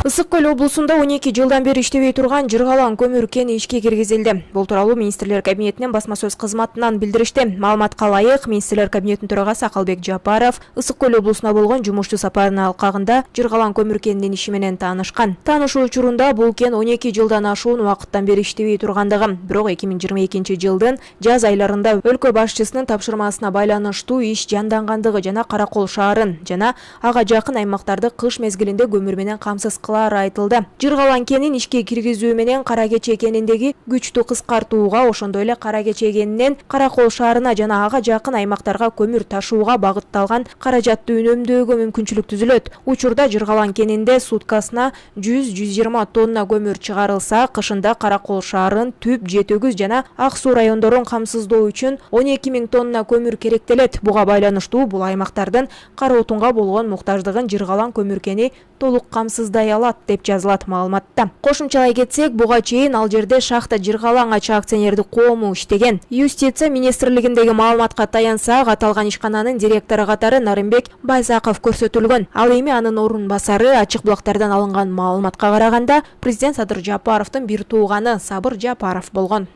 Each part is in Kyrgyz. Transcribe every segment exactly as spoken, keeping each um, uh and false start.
Ысык Көл облусунда он эки жылдан бери иштебей турган Жыргалан көмүр кени ишке киргизилди. Бул тууралуу министрлер кабинетинин басма сөз кызматынан билдиришти. Маалыматка ылайык, министрлер кабинетинин төрагасы Акылбек Жапаров Ысык Көл облусуна болгон жумуштуу сапарынын алкагында Жыргалан көмүр кенинин иши менен таанышкан. Таанышуу учурунда бул кен он эки жылдан ашуун убакыттан бери иштебей тургандыгы, бирок эки миң жыйырма экинчи жылдын жаз айларында өлкө башчысынын тапшырмасына байланыштуу иш жандангандыгы жана Каракол шаарын жана ага жакын аймактарды кыш мезгилинде көмүр менен камсыз айтылды. Жыргалан кенин ишке киргизүү менен Кара Кече кениндеги күчтү кыскартууга, ошондой эле Кара Кече кенинен Каракол шаарына жана ага жакын аймактарга көмүр ташууга багытталган каражатты үнөмдөөгө мүмкүнчүлүк түзүлөт. Учурда Жыргалан кенинде суткасына жүз жүз жыйырма тонна көмүр чыгарылса, кышында Каракол шаарын, Түп, Жетөгүз жана Ак Суу райондорун камсыздоо үчүн он эки миң тонна көмүр керектелет. Буга байланыштуу бул аймактардын кара отунга болгон муктаждыгын Жыргалан көмүр кени толук камсыздай алат деп жазылат маалыматта. Кошумчалай кетсек, буга чейин ал жерде шахта Жыргалан ачы акционердик коому иштеген. Юстиция министрлигиндеги маалыматка таянсак, аталган ишкананын директору катары Нарымбек Байзаков көрсөтүлгөн. Ал эми анын орун басары. Ачык булактардан алынган маалыматка караганда, президент Садыр Жапаровдун бир тууганы Сабыр Жапаров болгон.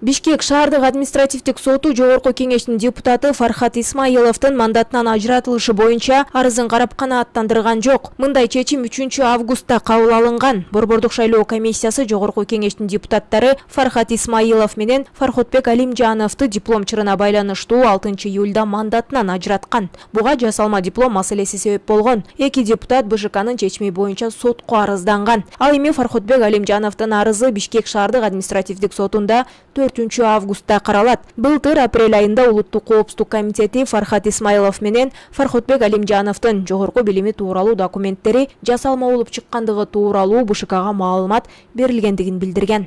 Бишкек шаардык административдик соту жогорку кеңештин депутаты Фархат Исмаиловдун мандатынан ажыратылышы боюнча арызын карап канааттандырган жок. Мындай чечим үчүнчү августта кабыл алынган. Борбордук шайлоо комиссиясы жогорку кеңештин депутаттары Фархат Исмаилов менен Фархотбек Алимжановду диплом чырына байланыштуу алтынчы июлда мандатынан ажыраткан. Буга жасалма диплом маселеси себеп болгон. Эки депутат БШКнын чечими боюнча сотко арызданган. Ал эми Фархотбек Алимжановдун арызы Бишкек шаардык административдик сотунда төртүнчү августта каралат. Былтыр апрель айында Улуттук коопсуздук комитети Фархат Исмаилов менен Фархотбек Алимжановдун жогорку билими тууралуу документтери жасалма болуп чыккандыгы тууралуу БШКга маалымат берилгендигин билдирген.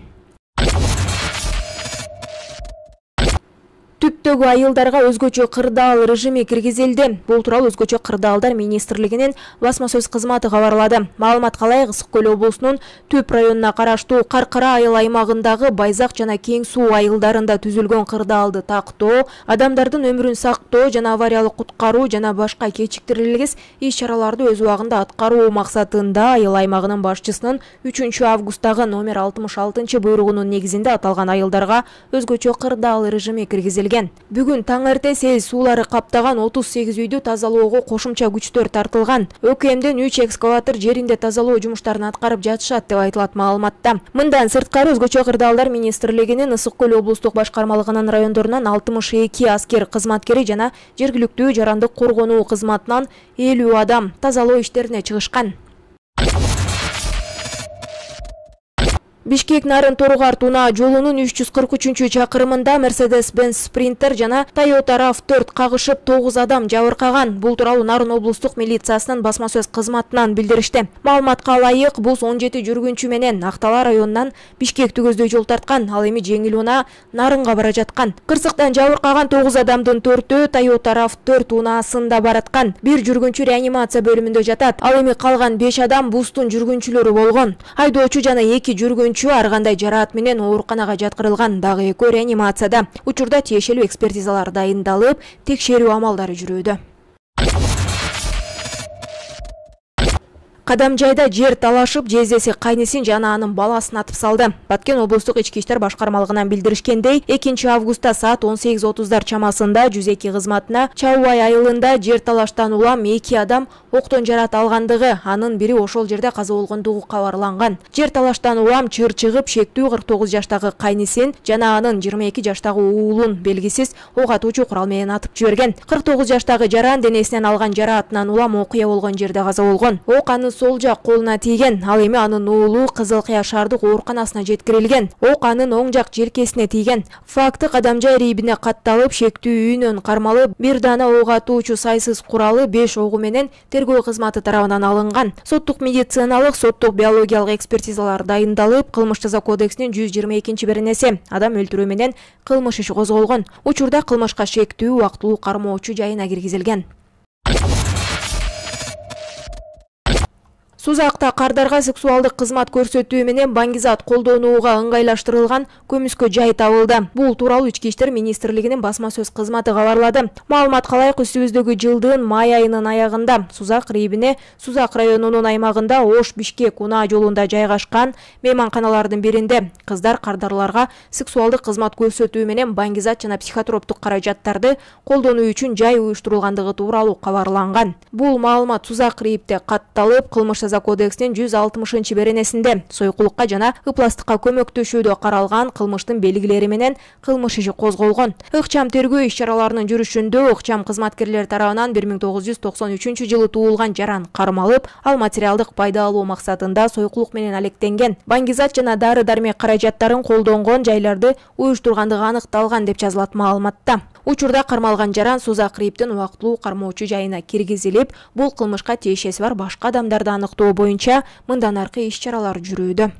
Түптөгү айылдарга өзгөчө кырдаал режими киргизилди. Бул тууралуу өзгөчө кырдаалдар министрлигинин басма сөз кызматы кабарлады. Маалыматка ылайык, Ысык Көл облусунун Түп районуна караштуу Каркыра айыл аймагындагы Байзак жана Кең Суу айылдарында түзүлгөн кырдаалды тактоо, адамдардын өмүрүн сактоо жана авариялык куткаруу жана башка кечиктирилгис иш-чараларды өз убагында аткаруу максатында айыл аймагынын башчысынын үчүнчү августтагы номер алтымыш алтынчы буйругунун негизинде аталган айылдарга өзгөчө кырдаал режими киргизилген. Бүгүн таң эрте сел суулары каптаган отуз сегиз үйдү тазалоого кошумча күчтөр тартылган. ÖKMден үч экскаватор жеринде тазалоо жумуштарын аткарып жатышат деп айтылат маалыматта. Мындан сырткары өзгөчө кырдаалдар министрлигинин Ысык Көл облустук башкармалыгынын райондорунан алтымыш эки аскер кызматкери жана жергиликтүү жарандык коргонуу кызматынан элүү адам тазалоо иштерине чыгышкан. Бишкек Нарын Торугар Тунаа жолунун үч жүз кырк үчүнчү чакырымында Mercedes-Benz Sprinter жана Toyota RAV төрт кагышып тогуз адам жабыркаган. Бул тууралуу Нарын облустук милициясынын басма сөз кызматынан билдиришти. Маалыматка ылайык, бус он жети жүргүнчү менен Актала районунан Бишкекти көздөй жол тарткан. Ал эми жеңил унаа Нарынга бара жаткан. Кырсыктан жабыркаган тогуз адамдын төртөө Toyota RAV төрт унаасында бараткан. Бир жүргүнчү реанимация бөлүмүндө жатат. Ал эми калган беш адам бустун жүргүнчүлөрү болгон. Айдоочу жана эки жүргүнчү ар кандай жараат менен ооруканага жаткырылган, дагы экөө реанимацияда. Учурда тиешелүү экспертизалар дайындалып, текшерүү амалдары жүрүүдө. Кадамжайда жер талашып, жездеси кайнысин жана анын баласын атып салды. Баткен облустук ички иштер башкармалыгынан билдиришкендей, экинчи августта саат он сегиз отуздар чамасында жүз эки кызматына Чаубай айылында жер талаштан улам эки адам октон жараат алгандыгы, анын бири ошол жерде каза болгондугу кабарланган. Жер талаштан улам чыр чыгып, шектүү кырк тогуз жаштагы кайнысин жана анын жыйырма эки жаштагы уулун белгисиз ок атуучу курал менен атып жиберген. кырк тогуз жаштагы жаран денесинен алган жараатынан улам окуя болгон жерде каза болгон. Ок анын сол жак колуна тийген. Ал эми анын уулу Кызыл Кыя шаардык ооруканасына жеткирилген. Ок анын оң жак желкесине тийген. Факты Кадамжай рийбине катталып, шектүү үйүнөн кармалып, бир дана ок атуучу сайсыз куралы беш огу менен тергөө кызматы тарабынан алынган. Соттук медициналык, соттук биологиялык экспертизалар дайындалып, кылмыш жаза кодексинин жүз жыйырма экинчи беренеси адам өлтүрүү менен кылмыш иши козголгон. Учурда кылмышка шектүү убактылуу кармоочу жайына киргизилген. Сузакта кардарга сексуалдык кызмат көрсөтүү менен баңгизат колдонууга ыңгайлаштырылган көмүскө жай табылды. Бул тууралуу Ички иштер министрлигинин басма сөз кызматы кабарлады. Маалымат калайык, үстүбүздөгү жылдын май айынын аягында Сузак райибине Сузак районунун аймагында Ош-Бишкек унаа жолунда жайгашкан мейманканалардын биринде кыздар кардарларга сексуалдык кызмат көрсөтүү менен баңгизат жана психотроптук каражаттарды колдонуу үчүн жай уюштурулгандыгы тууралуу кабарланган. Бул маалымат Сузак райипте катталып, кылмыш жаза кодексинин жүз алтымышынчы беренесинде союкулукка жана ыпластыкка көмөктөшүүдө каралган кылмыштын белгилери менен кылмыш иши козголгон. Ыкчам тергөө иш-чараларынын жүрүшүндө ыкчам кызматкерлер тарабынан бир миң тогуз жүз токсон үчүнчү жылы туулган жаран кармалып, ал материалдык пайда алуу максатында союкулук менен алектенген. Баңгизат жана дары-дармек каражаттарын колдонгон жайларды уюштургандыгы аныкталган деп жазылат маалыматта. Учурда кармалган жаран Сузак райиптин убактылуу кармоочу жайына киргизилип, бул кылмышка тиешеси бар башка адамдарды аныктоо боюнча мындан аркы иш-чаралар жүрүүдө.